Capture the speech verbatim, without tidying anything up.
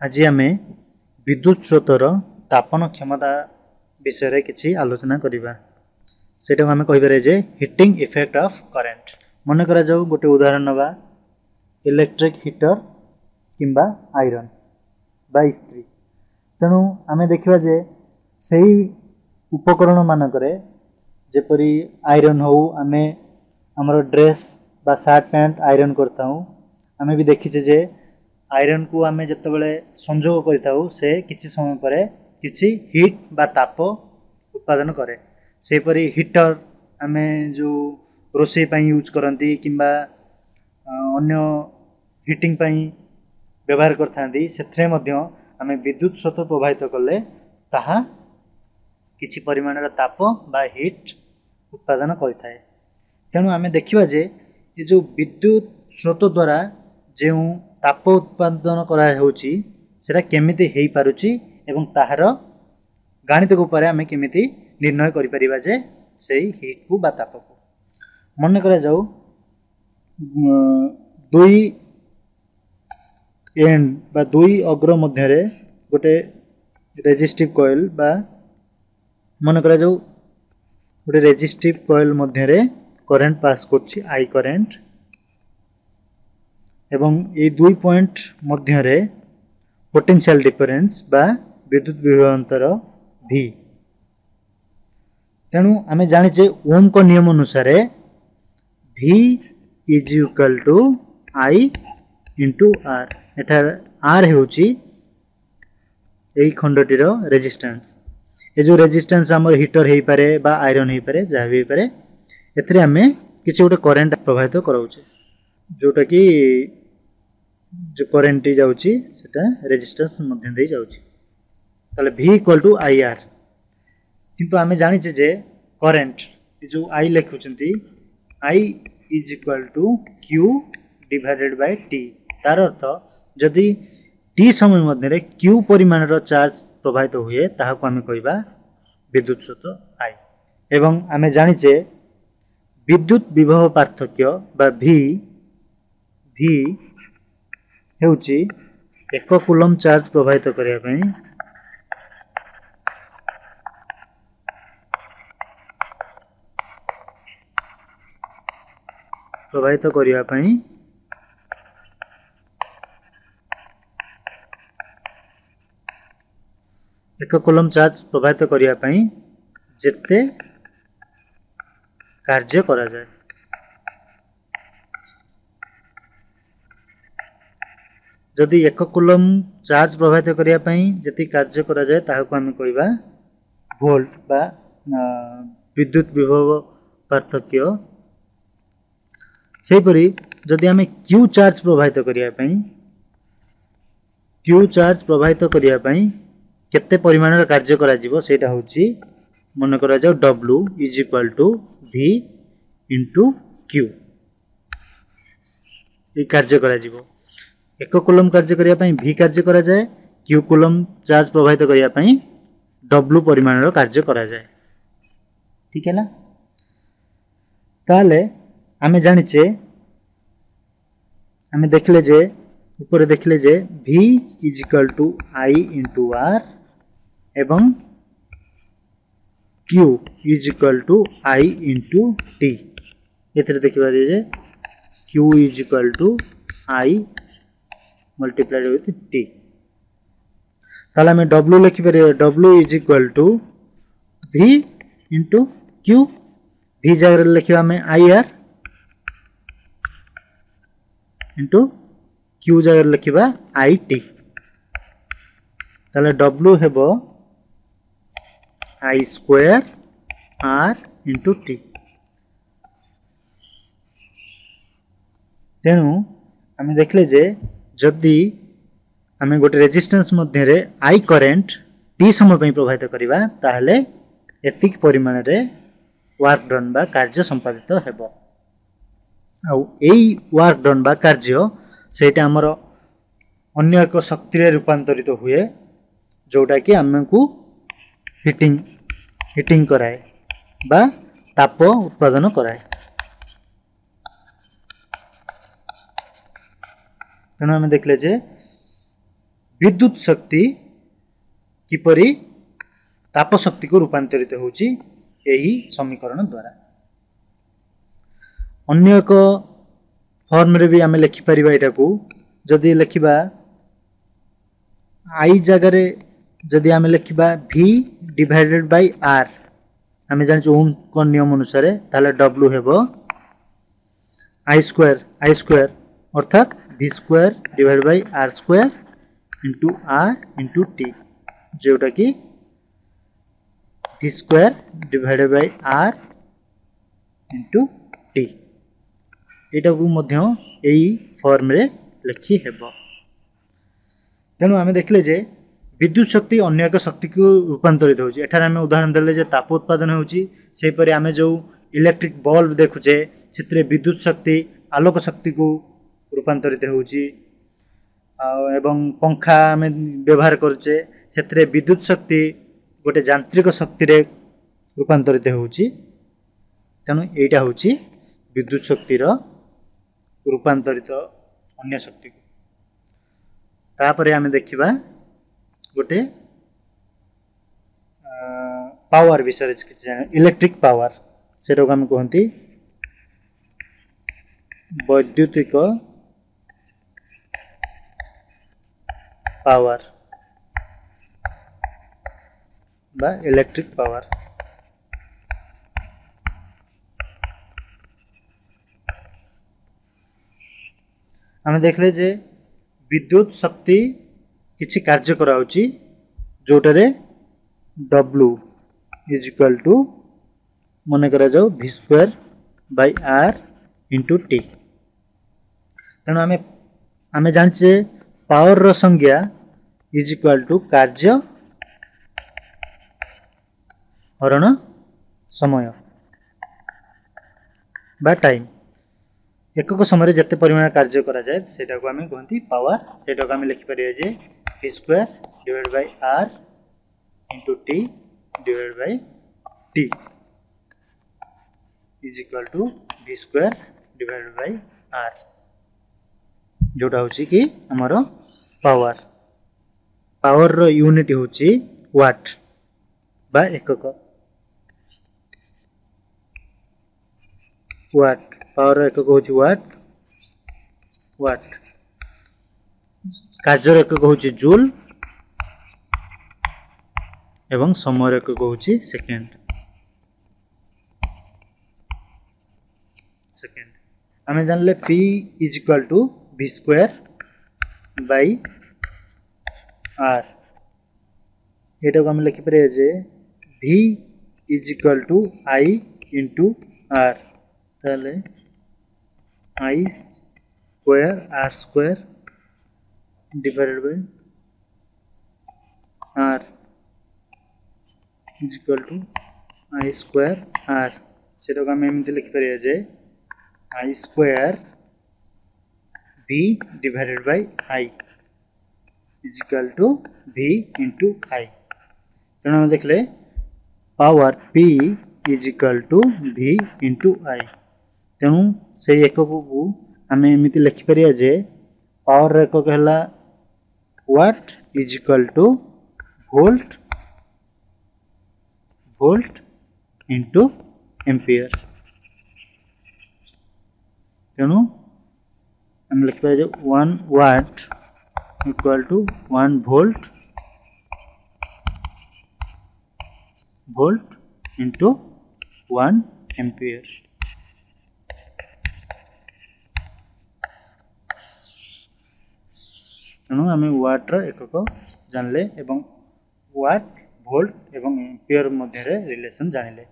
ଆଜି ଆମେ ବିଦ୍ୟୁତ ସ୍ରୋତର ତାପନ କ୍ଷମତା ବିଷୟରେ କିଛି ଆଲୋଚନା କରିବା। ସେଇଟାକୁ ଆମେ କହିପାରିବା ଯେ ହିଟିଂ ଇଫେକ୍ଟ ଅଫ୍ କରେଣ୍ଟ। ମନେ କରାଯାଉ ଗୋଟେ ଉଦାହରଣ ନେବା, ଇଲେକ୍ଟ୍ରିକ୍ ହିଟର କିମ୍ବା ଆଇରନ୍ ବା ଇସ୍ତ୍ରୀ। ତେଣୁ ଆମେ ଦେଖିବା ଯେ ସେଇ ଉପକରଣ ମାନଙ୍କରେ ଯେପରି ଆଇରନ୍ ହେଉ, ଆମେ ଆମର ଡ୍ରେସ୍ ବା ସାର୍ଟ ପ୍ୟାଣ୍ଟ ଆଇରନ୍ କରିଥାଉ। ଆମେ ବି ଦେଖିଛେ ଯେ ଆଇରନ୍କୁ ଆମେ ଯେତେବେଳେ ସଂଯୋଗ କରିଥାଉ, ସେ କିଛି ସମୟ ପରେ କିଛି ହିଟ୍ ବା ତାପ ଉତ୍ପାଦନ କରେ। ସେହିପରି ହିଟର ଆମେ ଯେଉଁ ରୋଷେଇ ପାଇଁ ୟୁଜ୍ କରନ୍ତି କିମ୍ବା ଅନ୍ୟ ହିଟିଂ ପାଇଁ ବ୍ୟବହାର କରିଥାନ୍ତି, ସେଥିରେ ମଧ୍ୟ ଆମେ ବିଦ୍ୟୁତ ସ୍ରୋତ ପ୍ରବାହିତ କଲେ ତାହା କିଛି ପରିମାଣର ତାପ ବା ହିଟ୍ ଉତ୍ପାଦନ କରିଥାଏ। ତେଣୁ ଆମେ ଦେଖିବା ଯେ ଏ ଯେଉଁ ବିଦ୍ୟୁତ ସ୍ରୋତ ଦ୍ୱାରା ଯେଉଁ ତାପ ଉତ୍ପାଦନ କରାହେଉଛି, ସେଇଟା କେମିତି ହେଇପାରୁଛି ଏବଂ ତାହାର ଗାଣିତିକ ଉପାୟରେ ଆମେ କେମିତି ନିର୍ଣ୍ଣୟ କରିପାରିବା ଯେ ସେଇ ହିଟ୍କୁ ବା ତାପକୁ। ମନେ କରାଯାଉ ଦୁଇ ଏଣ୍ଡ ବା ଦୁଇ ଅଗ୍ର ମଧ୍ୟରେ ଗୋଟେ ରେଜିଷ୍ଟିଭ୍ କଏଲ୍ ବା ମନେ କରାଯାଉ ଗୋଟେ ରେଜିଷ୍ଟିଭ୍ କଏଲ୍ ମଧ୍ୟରେ କରେଣ୍ଟ ପାସ୍ କରୁଛି I current, ଏବଂ ଏଇ ଦୁଇ ପଏଣ୍ଟ ମଧ୍ୟରେ ପୋଟେନ୍ସିଆଲ ଡିଫରେନ୍ସ ବା ବିଦ୍ୟୁତ ବିଭବାନ୍ତର ଭି। ତେଣୁ ଆମେ ଜାଣିଛେ ଓମ୍ଙ୍କ ନିୟମ ଅନୁସାରେ V is equal to I into R. ଏଠାରେ ଆର୍ ହେଉଛି ଏଇ ଖଣ୍ଡଟିର ରେଜିଷ୍ଟାନ୍ସ। ଏ ଯେଉଁ ରେଜିଷ୍ଟାନ୍ସ ଆମର ହିଟର ହେଇପାରେ ବା ଆଇରନ୍ ହେଇପାରେ, ଯାହା ବି ହେଇପାରେ, ଏଥିରେ ଆମେ କିଛି ଗୋଟେ କରେଣ୍ଟ ପ୍ରବାହିତ କରାଉଛେ, ଯେଉଁଟାକି ଯେଉଁ କରେଣ୍ଟଟି ଯାଉଛି ସେଟା ରେଜିଷ୍ଟାନ୍ସ ମଧ୍ୟ ଦେଇ ଯାଉଛି। ତାହେଲେ V equal to I R. କିନ୍ତୁ ଆମେ ଜାଣିଛେ ଯେ କରେଣ୍ଟ ଏ ଯେଉଁ I ଲେଖୁଛନ୍ତି, I is equal to Q divided by T. ତାର ଅର୍ଥ ଯଦି ଟି ସମୟ ମଧ୍ୟରେ କ୍ୟୁ ପରିମାଣର ଚାର୍ଜ ପ୍ରବାହିତ ହୁଏ, ତାହାକୁ ଆମେ କହିବା ବିଦ୍ୟୁତ ସ୍ରୋତ I. ଏବଂ ଆମେ ଜାଣିଛେ ବିଦ୍ୟୁତ ବିଭବ ପାର୍ଥକ୍ୟ ବା ଭି ଭି ହେଉଛି ଏକ କୁଲମ୍ ଚାର୍ଜ ପ୍ରବାହିତ କରିବା ପାଇଁ ପ୍ରବାହିତ କରିବା ପାଇଁ ଏକ କୁଲମ୍ ଚାର୍ଜ ପ୍ରବାହିତ କରିବା ପାଇଁ ଯେତେ କାର୍ଯ୍ୟ କରାଯାଏ। ଯଦି ଏକ କୁଲମ୍ ଚାର୍ଜ ପ୍ରବାହିତ କରିବା ପାଇଁ ଯେତିକି କାର୍ଯ୍ୟ କରାଯାଏ, ତାହାକୁ ଆମେ କହିବା ଭୋଲ୍ଟ ବା ବିଦ୍ୟୁତ ବିଭବ ପାର୍ଥକ୍ୟ। ସେହିପରି ଯଦି ଆମେ କ୍ୟୁ ଚାର୍ଜ ପ୍ରବାହିତ କରିବା ପାଇଁ କ୍ୟୁ ଚାର୍ଜ ପ୍ରବାହିତ କରିବା ପାଇଁ କେତେ ପରିମାଣର କାର୍ଯ୍ୟ କରାଯିବ, ସେଇଟା ହେଉଛି ମନେ କରାଯାଉ W is equal to V into Q. ଏଇ କାର୍ଯ୍ୟ କରାଯିବ। ଏକ କୁଲମ୍ କାର୍ଯ୍ୟ କରିବା ପାଇଁ ଭି କାର୍ଯ୍ୟ କରାଯାଏ, କ୍ୟୁ କୁଲମ୍ ଚାର୍ଜ ପ୍ରବାହିତ କରିବା ପାଇଁ ଡବ୍ଲୁ ପରିମାଣର କାର୍ଯ୍ୟ କରାଯାଏ। ଠିକ୍ ହେଲା? ତାହେଲେ ଆମେ ଜାଣିଛେ, ଆମେ ଦେଖିଲେ ଯେ ଉପରେ ଦେଖିଲେ ଯେ V is equal to I into R ଏବଂ Q is equal to I into T. ଏଥିରେ ଦେଖିପାରିବେ ଯେ Q is equal to I multiplied with T. ତାହେଲେ ଆମେ W ଲେଖିପାରିବା W is equal to V into Q. V ଜାଗାରେ ଲେଖିବା ଆମେ I R into Q ଜାଗାରେ ଲେଖିବା I T. ତାହେଲେ W ହେବ I square R into T. ତେଣୁ ଆମେ ଦେଖିଲେ ଯେ ଯଦି ଆମେ ଗୋଟେ ରେଜିଷ୍ଟାନ୍ସ ମଧ୍ୟରେ I current ଟି ସମୟ ପାଇଁ ପ୍ରବାହିତ କରିବା, ତାହେଲେ ଏତିକି ପରିମାଣରେ ୱାର୍କ ଡନ୍ ବା କାର୍ଯ୍ୟ ସମ୍ପାଦିତ ହେବ। ଆଉ ଏଇ ୱାର୍କ ଡନ୍ ବା କାର୍ଯ୍ୟ ସେଇଟା ଆମର ଅନ୍ୟ ଏକ ଶକ୍ତିରେ ରୂପାନ୍ତରିତ ହୁଏ, ଯେଉଁଟାକି ଆମକୁ ହିଟିଂ ହିଟିଂ କରାଏ ବା ତାପ ଉତ୍ପାଦନ କରାଏ। ତେଣୁ ଆମେ ଦେଖିଲେ ଯେ ବିଦ୍ୟୁତ ଶକ୍ତି କିପରି ତାପ ଶକ୍ତିକୁ ରୂପାନ୍ତରିତ ହେଉଛି ଏହି ସମୀକରଣ ଦ୍ୱାରା। ଅନ୍ୟ ଏକ ଫର୍ମରେ ବି ଆମେ ଲେଖିପାରିବା ଏଇଟାକୁ। ଯଦି ଲେଖିବା I ଜାଗାରେ ଯଦି ଆମେ ଲେଖିବା ଭି ଡିଭାଇଡେଡ୍ ବାଇ ଆର୍, ଆମେ ଜାଣିଛୁ ଓମଙ୍କ ନିୟମ ଅନୁସାରେ, ତାହେଲେ ଡବ୍ଲୁ ହେବ I square, I square ଅର୍ଥାତ୍ V square divide by R square into R into T, ଯେଉଁଟାକି V square divided by R into T. ଏଇଟାକୁ ମଧ୍ୟ ଏଇ ଫର୍ମରେ ଲେଖି ହେବ। ତେଣୁ ଆମେ ଦେଖିଲେ ଯେ ବିଦ୍ୟୁତ ଶକ୍ତି ଅନ୍ୟ ଏକ ଶକ୍ତିକୁ ରୂପାନ୍ତରିତ ହେଉଛି। ଏଠାରେ ଆମେ ଉଦାହରଣ ଦେଲେ ଯେ ତାପ ଉତ୍ପାଦନ ହେଉଛି। ସେହିପରି ଆମେ ଯେଉଁ ଇଲେକ୍ଟ୍ରିକ୍ ବଲ୍ବ ଦେଖୁଛେ ସେଥିରେ ବିଦ୍ୟୁତ ଶକ୍ତି ଆଲୋକ ଶକ୍ତିକୁ ରୂପାନ୍ତରିତ ହେଉଛି। ଆଉ ଏବଂ ପଙ୍ଖା ଆମେ ବ୍ୟବହାର କରୁଛେ, ସେଥିରେ ବିଦ୍ୟୁତ ଶକ୍ତି ଗୋଟେ ଯାନ୍ତ୍ରିକ ଶକ୍ତିରେ ରୂପାନ୍ତରିତ ହେଉଛି। ତେଣୁ ଏଇଟା ହେଉଛି ବିଦ୍ୟୁତ ଶକ୍ତିର ରୂପାନ୍ତରିତ ଅନ୍ୟ ଶକ୍ତିକୁ। ତାପରେ ଆମେ ଦେଖିବା ଗୋଟେ ପାୱାର ବିଷୟରେ କିଛି ଜାଣିବା, ଇଲେକ୍ଟ୍ରିକ୍ ପାୱାର। ସେଟାକୁ ଆମେ କୁହନ୍ତି ବୈଦ୍ୟୁତିକ ପାୱାର ବା ଇଲେକ୍ଟ୍ରିକ୍ ପାୱାର। ଆମେ ଦେଖିଲେ ଯେ ବିଦ୍ୟୁତ ଶକ୍ତି କିଛି କାର୍ଯ୍ୟ କରାଉଛି ଯେଉଁଟାରେ ଡବ୍ଲୁ is equal to ମନେ କରାଯାଉ V square by R into T. ତେଣୁ ଆମେ ଆମେ ଜାଣିଛେ ପାୱାରର ସଂଜ୍ଞା is equal to କାର୍ଯ୍ୟ ହରଣ ସମୟ ବା ଟାଇମ୍। ଏକକ ସମୟରେ ଯେତେ ପରିମାଣ କାର୍ଯ୍ୟ କରାଯାଏ ସେଇଟାକୁ ଆମେ କୁହନ୍ତି ପାୱାର। ସେଇଟାକୁ ଆମେ ଲେଖିପାରିବା ଯେ V square divide by R into T divide by T is equal to V square divide by R, ଯେଉଁଟା ହେଉଛି କି ଆମର ପାୱାର। ପାୱାରର ୟୁନିଟ୍ ହେଉଛି ୱାଟ୍ ବା ଏକକ। ୱାଟ୍ ପାୱାର ଏକକ ହେଉଛି ୱାଟ୍, ୱାଟ୍। କାର୍ଯ୍ୟର ଏକକ ହେଉଛି ଜୁଲ୍ ଏବଂ ସମୟର ଏକକ ହେଉଛି ସେକେଣ୍ଡ। ସେକେଣ୍ଡ ଆମେ ଜାଣିଲେ P is equal to V square by R. ଏଟାକୁ ଆମେ ଲେଖିପାରିବା ଯେ V is equal to I into R, ତାହେଲେ I square R square divided by R is equal to I square R। ସେଟାକୁ ଆମେ ଏମିତି ଲେଖିପାରିବା ଯେ I square V divided by I is equal to V into I। ତେଣୁ ଆମେ ଦେଖିଲେ power P is equal to V into I। ତେଣୁ ସେଇ ଏକକକୁ ଆମେ ଏମିତି ଲେଖିପାରିବା ଯେ ପାୱାର ଏକକ ହେଲା watt is equal to volt volt into ampere. ତେଣୁ ଆମେ ଲେଖିପାରିବା ଯେ one watt equal to one volt volt into one ampere. ତେଣୁ ଆମେ ୱାଟ୍ର ଏକକ ଜାଣିଲେ ଏବଂ ୱାଟ୍, ଭୋଲ୍ଟ ଏବଂ ଏମ୍ପିୟର ମଧ୍ୟରେ ରିଲେସନ୍ ଜାଣିଲେ।